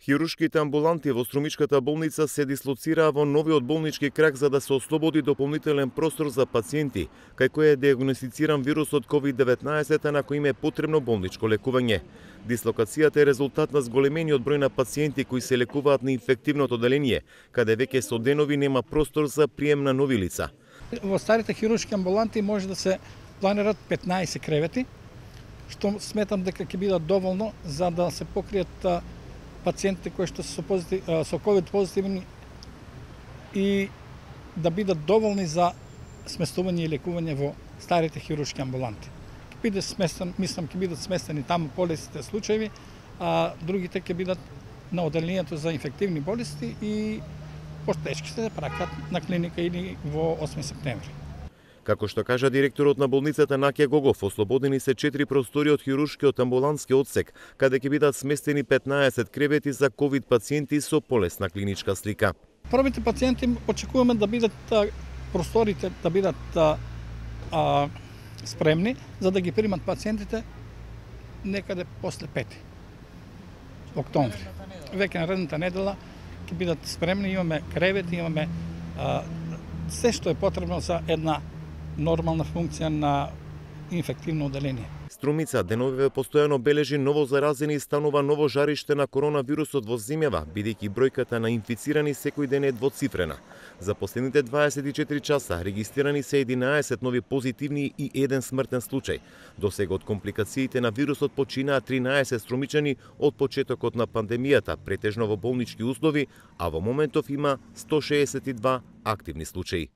Хируршките амбуланти во Струмичката болница се дислоцираа во новиот болнички крак за да се ослободи дополнителен простор за пациенти, кај кој е диагностициран вирусот COVID-19, на кој им е потребно болничко лекување. Дислокацијата е резултат на зголемениот број на пациенти кои се лекуваат на инфективното одделение, каде веќе со денови нема простор за прием на нови лица. Во старите хируршки амбуланти може да се планират 15 кревети, што сметам дека ќе бидат доволно за да се покријат пациентите кои што се со COVID позитивни и да бидат доволни за сместување и лекување во старите хируршки амбуланти. Мислам ќе бидат сместени таму полесните случаи, а другите ќе бидат на одделението за инфективни болести и потешките да пракат на клиника или во 8 септември. Како што кажа директорот на болницата Наке Гогов, ослободени се 4 простори од хируршкиот амбулантски одсек, каде ќе бидат сместени 15 кревети за ковид пациенти со полесна клиничка слика. Првите пациенти очекуваме да бидат просторите да бидат спремни за да ги примат пациентите некаде после 5 октомври. Веќе наредната недела ќе бидат спремни, имаме кревети, имаме се што е потребно за една нормална функција на инфективно одделение. Струмица деновиве постојано бележи ново заразени и станува ново жариште на коронавирусот во земјава, бидејќи бројката на инфицирани секој ден е двоцифрена. За последните 24 часа регистрирани се 11 нови позитивни и 1 смртен случај. Досега од компликациите на вирусот починаа 13 струмичани од почетокот на пандемијата, претежно во болнички услови, а во моментов има 162 активни случаи.